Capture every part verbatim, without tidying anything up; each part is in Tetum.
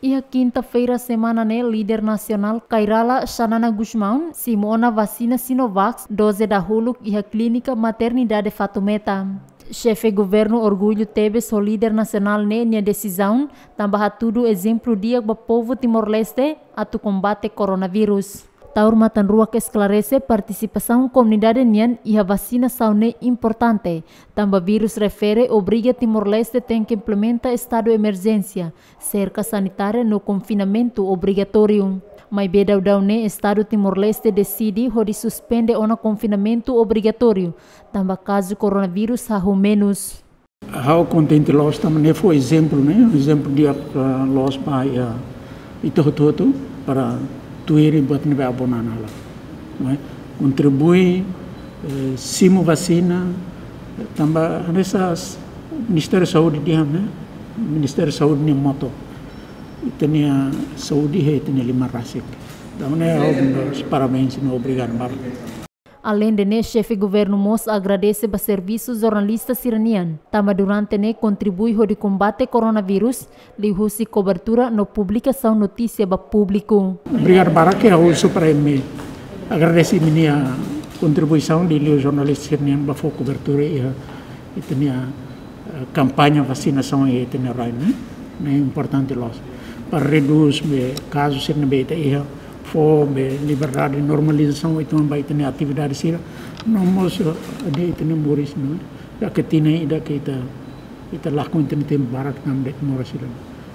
Iha kinta-feira semana ne'e, líder nasionál Kay Rala Xanana Gusmão simu ona vasina Sinovac doze dahuluk iha Klínika Maternidade Fatumeta. Xefe governu orgullu tebes ho líder nasionál ne'e nia desizaun, tanba hatudu ezemplu di'ak ba povu Timor-Leste atu kombate koronavírus. Taur Matan-Ruak esklarese partisipasaun komunidade nian iha vasinasaun ne'e importante, tanba vírus refere obriga Timor-Leste tenke implementa estadu emerjénsia, serka sanitária no konfinamentu obrigatóriu. Maibé daudaun ne'e estadu Timor-Leste deside hodi suspende ona konfinamentu obrigatóriu, tanba kazu koronavírus hahú menus. Ha'u kontente loos tanba ne'e fó ezemplu, ne'e, ezemplu di'ak, ah, loos ba, ah, ita hotu-hotu para tuir buat ne'ebé aban-bainrua, ne'e? Kontribui, eh, simu vasina, tanba hanesan Ministériu Saúde dehan, ne'e? Ministériu Saúde nia moto: ita-nia saúde iha ita-nia liman rasik. Entaun ne'e ha'u dou parabéns no obrigadu barak. Aleinde ne'e, xefe governu mós agradese ba servisu jornalista sira-nian, tanba durante ne'e kontribui hodi kombate koronavírus, liuhusi kobertura no publikasaun notísia ba públiku. Obrigadu barak, ha'u husu para imi agradese imi-nia kontribuisaun liuliu jornalista sira-nian ba fó kobertura iha ita-nia, eh, kampaña vasinasaun iha ita-nia rai, ne'e? Ne'e importante loos. Para redús be kazu sira ne'ebé ita iha, fó be liberdade, normalizasaun uitoan ba ita-nia atividade sira. No mós, eh, ita-nia moris, ne'e? Ida-ne'e tinan ida ke ita, ita lakon ita-nia tempu barak tanba de'it moras sira.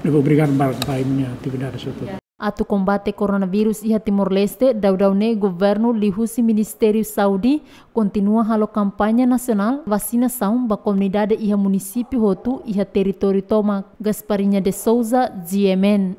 Ne'ebé obrigadu barak ba imi-nia atividade sira hotu. Atu kombate koronavírus iha Timor-Leste, daudaun ne'e governu liuhusi Ministériu Saúde kontinua halo kampaña nasionál vasinasaun ba komunidade iha munisípiu hotu iha territóriu tomak. Gasparinha de Souza, G M N.